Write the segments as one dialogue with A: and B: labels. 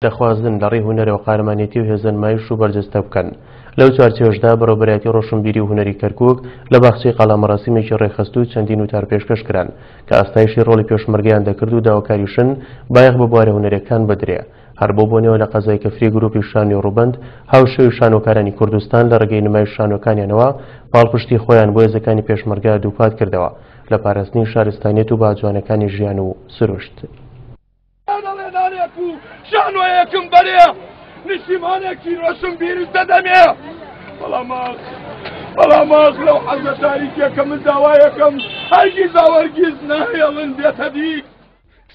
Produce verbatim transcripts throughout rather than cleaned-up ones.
A: دەخوازن لە ڕێی هونەرەوە قارەمانێتی و هێزە نمایش و بەرجەستە بکەن. لەو چوارچێوەشدا بەڕێوەبەرایەتی ڕۆشنبیری و هونەری کەرکووک لە باخچەی قەڵا مەراسیمێکی ڕێکخست و چەندین وتار پێشکەش کران کە ئاستایشی ڕۆڵی پێشمەرگەیان دەکرد و داواکاریشن بایەخ بە بوارە هونەرەکان بدرێ. هەر بۆ بۆنەوە لە قەزای کفری گروپی شانۆی ڕووبەند هاوشێوی شانۆکارانی کوردستان لە ڕێگەی نمایش شانۆکانیانەوە پاڵپشتی خۆیان بۆ هێزەکانی پێشمەرگە دووپات کردەوە لە پاراستنی شارستانیەت و باجوانەکانی ژیان و سروشت.
B: شانۆیەکم بەرێ نیشتیمانێکی ڕۆشنبیرش دەدەمێ، بەڵام بەڵام ئاخ لەو حەزە تاریکیەکە من داوایەکەم هەرگیز هەرگیز ناهێڵن بێتە دی.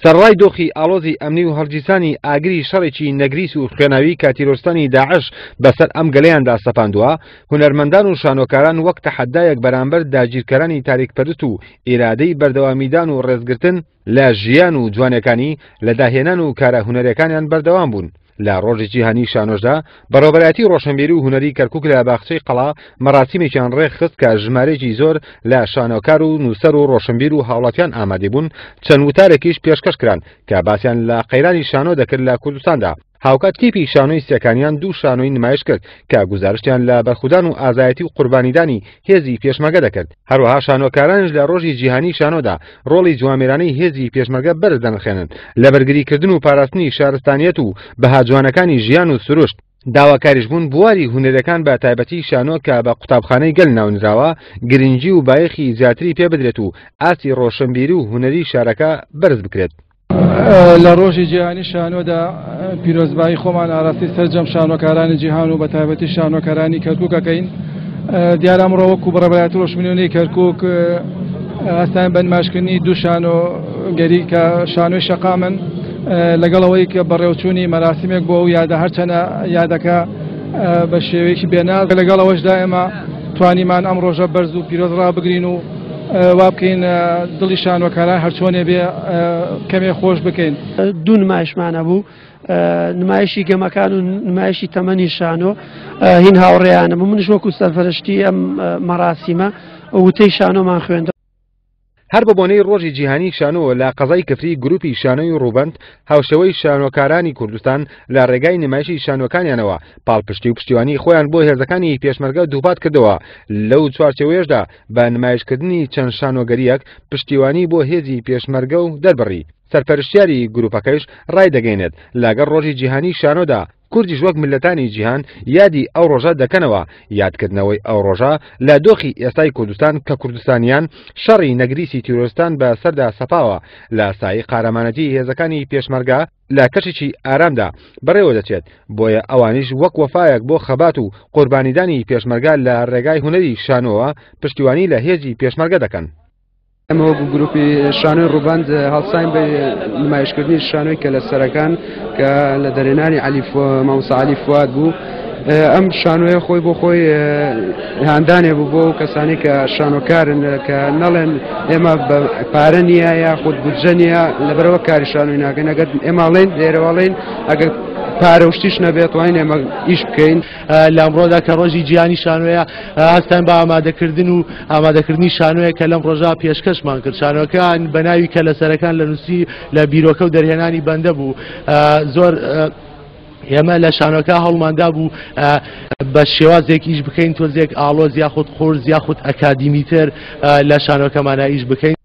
C: سەرڕای دۆخی ئاڵۆزی ئەمنی و هەڵگیرسانی ئاگری شەڕێکی نەگریس و خوێناوی کە تیرۆرستانی داعش بەسەر ئەم گەلەیاندا سەپاندووە، هونەرمەندان و شانۆکاران وەک تەحەدایەک بەرامبەر داگیرکەرانی تاریکپەرست و ئیرادەی بەردەوامیدان و ڕێزگرتن لە ژیان و جوانەکانی لە داهێنان و کارە هونەرەکانیان بەردەوام بوون. لە ڕۆژی جیهانی شانۆشدا بەڕێوەبەرایەتی ڕۆشنبیری و هونەری کەرکووک لە باخچەی قەڵا مەراسیمێکیان ڕێکخست کە ژمارەیەکی زۆر لە شانۆکار و نووسەر و ڕۆشنبیر و هاوڵاتیان ئامادە بوون. چەند وتارێکیش پێشکەش کران کە باسیان لە قەیرانی شانۆ دەکرد لە کوردستاندا. هاوکات تیپی شانۆی سێکانیان دوو شانۆی نمایش کرد کە گوزارشتیان لە بەرخودان و ئازایەتی و قوربانیدانی هێزی پێشمەرگە دەکرد. هەروەها شانۆکارانش لە ڕۆژی جیهانی شانۆدا ڕۆڵی جوامێرانەی هێزی پێشمەرگە بەرز دەنرخێنن لە بەرگریکردن و پاراستنی شارستانیەت و بەها جوانەکانی ژیان و سروشت. داواکاریش بوون بواری هونەرەکان بە تایبەتی شانۆ کە بە قوتابخانەی گەل ناونراوە گرنگی و بایەخی زیاتری پێ بدرێت و ئاستی ڕۆشنبیری و هونەری شارەکە بەرز بکرێت.
D: لە ڕۆژی جیهانی شانۆدا پیرۆزبایی خۆمان ئاراستەی سەرجەم شانۆکارانی جیهان و بە تایبەتی شانۆکارانی کەرکووک ئەکەین. دیارە ئەمڕۆ وەکو بەڕێوەبەرایەتی ڕۆشنبیری کەرکووک هەستاین بە نمایشکردنی دوو شانۆگەری کە شانۆی شەقامن، لەگەڵ ئەوەی کە بەڕێوچوونی مەراسیمێک بۆ ئەو یادە، هەرچەنە یادەکە بە شێوەیەکی بێناز، لەگەڵ ئەوەشدا ئێمە توانیمان ئەم ڕۆژە بەرز و پیرۆز ڕابگرین و وا بکەین دڵی شانۆکاران هەرچۆنێ بێ کەمێ خۆش بکەین.
E: دوو نمایشمانە بوو، نمایشی گەمەکان و نمایشی تەمەنی شانۆ هین هاوڕێیانە بوو. منش وەکو سەرپەرشتی ئەم مەراسیمە وتەی شانۆمان خوێندە.
C: هەر بە بۆنەی ڕۆژی جیهانی شانۆ لە قەزای کفری گروپی شانۆی ڕووبەند هاوشێوەی شانۆکارانی کوردستان لە ڕێگای نمایشی شانۆکانیانەوە پاڵپشتی و پشتیوانی خۆیان بۆ هێزەکانی پێشمەرگە دووپات کردەوە. لەو چوارچێوەیەشدا بە نمایشکردنی چەند شانۆگەریەک پشتیوانی بۆ هێزی پێشمەرگە و دەربڕی. سەرپەرشتیاری گروپەکەیش ڕایدەگەینێت لەگەڵ ڕۆژی جیهانی شانۆدا کوردیش وەک ملەتانی جیهان یادی ئەو ڕۆژە دەکەنەوە. یادکردنەوەی ئەو ڕۆژە لە دۆخی ئێستای کوردستان کە کوردستانیان شەڕی نەگریسی تیرۆرستان بە سەردا سەپاوە لە سایی قارەمانەتی هێزەکانی پێشمەرگە لە کەشێکی ئارامدا بەڕێوە دەچێت، بۆیە ئەوانیش وەک وەفایەک بۆ خەبات و قوربانیدانی پێشمەرگە لە ڕێگای هونەری شانۆوە پشتیوانی لە هێزی پێشمەرگە دەکەن.
F: ئەمە وەکو گروپی شانۆی ڕووبەند هەڵساین بە نمایشکردنی شانۆی کە لە سەرەکان کە لە دەرێنانی مامۆستا عەلی فواد بوو. ئەم شانۆیە خۆی بۆ خۆی هاندانێ بوو بۆ کەسانی کە شانۆکارن کە نەڵێن ئێمە پارە نییە یاخود بودجە نییە لەبەرەوە کاری شانۆی ناکەین. ئەگەر ئێماڵێن لێرەواڵێن ئەگەر پارە و شتیش نەبێت توانین ئێمە ئیش بکەین.
G: لە ئەمڕۆدا کە ڕۆژی جیهانی شانۆیە هەستان بە ئامادەکردن و ئامادەکردنی شانۆیە کە لەم ڕۆژا پێشکەشمان کرد. شانۆکان بە ناوی کە لە سەرەکان لە نووسی لە بیرۆکە و دەرهێنانی بەندە بوو. زۆر ئێمە لە شانۆکە هەوڵماندا بوو بە شێوازێک ئیش بکەین تۆزێک ئاڵۆز یاخود قورس یاخود ئەکادیمیتر لە شانۆکەمانە ئیش بکەین.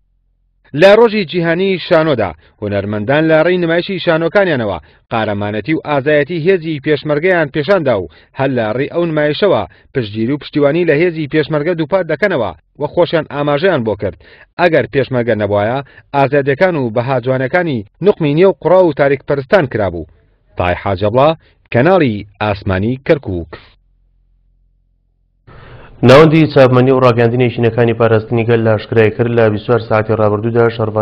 C: لە ڕۆژی جیهانی شانۆدا هونەرمەندان لە ڕێی نمایشی شانۆکانیانەوە قارەمانەتی و ئازایەتی هێزی پێشمەرگەیان پێشاندا و هەر لە ڕێی ئەو نمایشەوە پشتگیری و پشتیوانی لە هێزی پێشمەرگە دووپات دەکەنەوە و خۆشیان ئاماژەیان بۆ کرد ئەگەر پێشمەرگە نەبوایە ئازادیەکان و بەها جوانەکانی نوقمی نێو قوڕاو و تاریکپەرستان کرابوو. تای حاجەبڵا، کەناڵی ئاسمانی کەرکووک.
A: ناوەندی چاپمەنی و ڕاگەاندنی یەکینەکانی پاراستنی گەل لە ئاشکرای کرد لە بیست و چوار ساعتی ڕابردوودا شەڕڤان